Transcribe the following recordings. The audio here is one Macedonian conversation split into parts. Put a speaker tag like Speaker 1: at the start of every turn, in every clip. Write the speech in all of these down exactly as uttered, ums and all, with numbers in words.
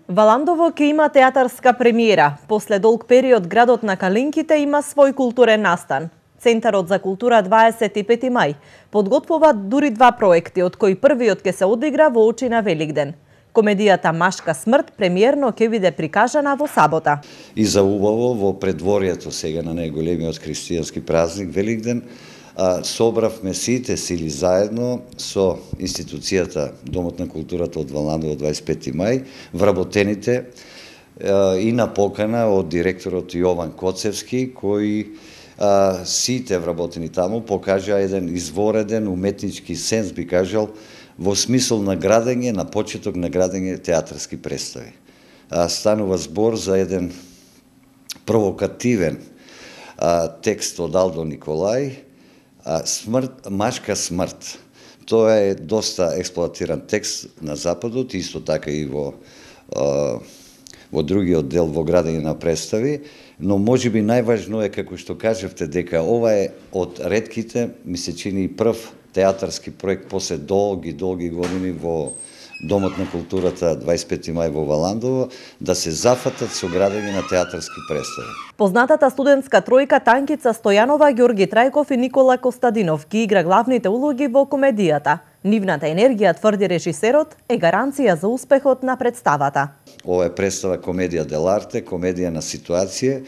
Speaker 1: Валандово ќе има театарска премиера. После долг период градот на Калинките има свој културен настан. Центарот за култура дваесет и пети мај подготвува дури два проекти, од кои првиот ќе се одигра во очи на Великден. Комедијата Машка смрт премиерно ќе биде прикажана во сабота.
Speaker 2: И за убаво во предворието сега на најголемиот христијански празник Великден, собравме сите сили заедно со институцијата Домот на културата од Валандово дваесет и пети мај, вработените и на покана од директорот Јован Коцевски, кои сите вработени таму покажа еден извореден уметнички сенс, би кажал, во смисол на градење, на почеток на градење театарски представи. Станува збор за еден провокативен текст од Алдо Николај, Смрт, Машка смрт. Тоа е доста експлоатиран текст на Западот, исто така и во во другиот дел во градење на представи, но можеби најважно е, како што кажавте, дека ова е од ретките, ми се чини и прв театарски проект после долги, долги години во Домот на културата дваесет и пети мај во Валандово, да се зафатат со градење на театарски представи.
Speaker 1: Познатата студентска тројка Танкица Стојанова, Ѓорги Трајков и Никола Костадинов ги игра главните улоги во комедијата. Нивната енергија, тврди режисерот, е гаранција за успехот на представата.
Speaker 2: Ова е представа комедија деларте, комедија на ситуација,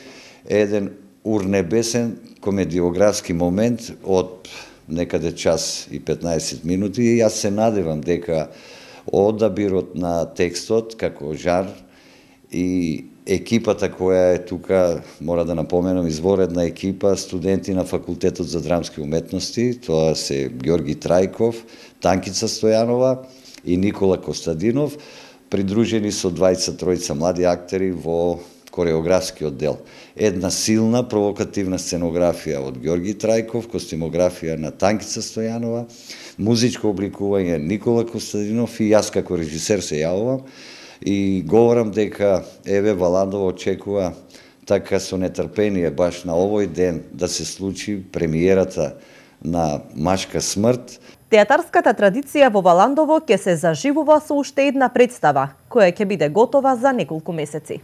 Speaker 2: еден урнебесен комедиографски момент од некаде час и петнаесет минути и јас се надевам дека одабирот на текстот како жар и екипата која е тука, мора да напоменам, изворедна екипа, студенти на Факултетот за драмски уметности, тоа се Ѓорги Трајков, Танкица Стојанова и Никола Костадинов, придружени со двајца тројца млади актери во кореографскиот дел. Една силна провокативна сценографија од Ѓорги Трајков, костимографија на Танкица Стојанова, музичко обликување Никола Костадинов и јас како режисер се јавувам и говорам дека еве Валандово очекува така со нетрпение баш на овој ден да се случи премиерата на Машка смрт.
Speaker 1: Театарската традиција во Валандово ќе се заживува со уште една представа, која ќе биде готова за неколку месеци.